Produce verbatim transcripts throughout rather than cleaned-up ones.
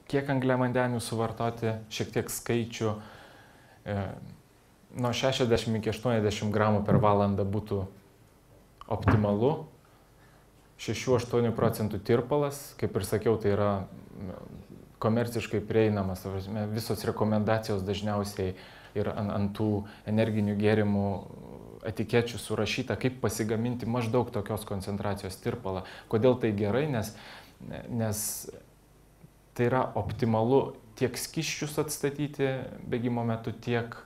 kiek angliavandenių suvartoti, šiek tiek skaičių. E, nuo šešiasdešimt iki aštuoniasdešimt gramų per valandą būtų optimalu. šešių aštuonių procentų tirpalas, kaip ir sakiau, tai yra komerciškai prieinamas. Visos rekomendacijos dažniausiai ir ant, ant tų energinių gėrimų etikečių surašyta, kaip pasigaminti maždaug tokios koncentracijos tirpalą. Kodėl tai gerai? Nes, nes tai yra optimalu tiek skysčius atstatyti bėgimo metu, tiek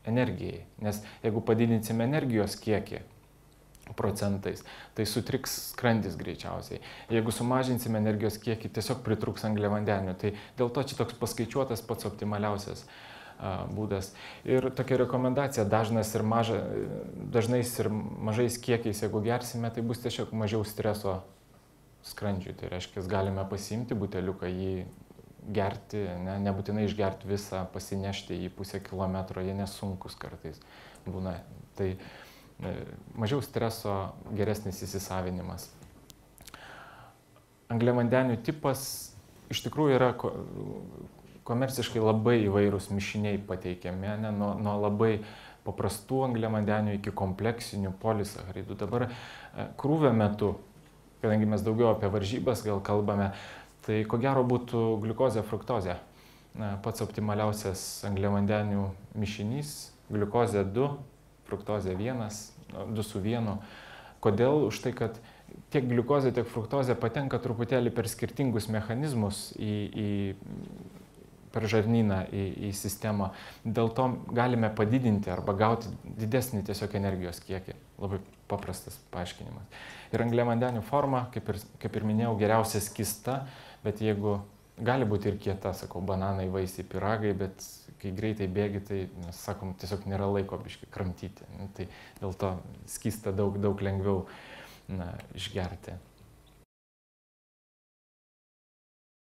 energijai. Nes jeigu padidinsime energijos kiekį procentais, tai sutriks skrandis greičiausiai. Jeigu sumažinsime energijos kiekį, tiesiog pritrūks angliavandenių. Tai dėl to čia toks paskaičiuotas pats optimaliausias a, būdas. Ir tokia rekomendacija, dažnas ir maža, dažnais ir mažais kiekiais, jeigu gersime, tai bus tiesiog mažiau streso skrandžiui. Tai reiškia, galime pasiimti buteliuką, jį gerti, ne, nebūtinai išgerti visą, pasinešti į pusę kilometro, jie nesunkus kartais būna. Tai mažiau streso, geresnis įsisavinimas. Angliavandenių tipas iš tikrųjų yra komerciškai labai įvairūs mišiniai pateikiami, ne, nuo, nuo labai paprastų angliavandenių iki kompleksinių polisacharidų. Dabar krūvio metu, kadangi mes daugiau apie varžybas gal kalbame, tai ko gero būtų gliukozė, fruktozė. Pats optimaliausias angliavandenių mišinys, gliukozė du, fruktozė vienas, du su vienu. Kodėl? Už tai, kad tiek gliukozė, tiek fruktozė patenka truputėlį per skirtingus mechanizmus į, į, per žarnyną, į, į sistemą. Dėl to galime padidinti arba gauti didesnį tiesiog energijos kiekį. Labai paprastas paaiškinimas. Ir angliavandenių forma, kaip ir, kaip ir minėjau, geriausia skysta, bet jeigu gali būti ir kieta, sakau, bananai, vaisiai, pyragai, bet kai greitai bėgi, tai, mes sakom, tiesiog nėra laiko biškai kramtyti. Tai dėl to skysta daug, daug lengviau na, išgerti.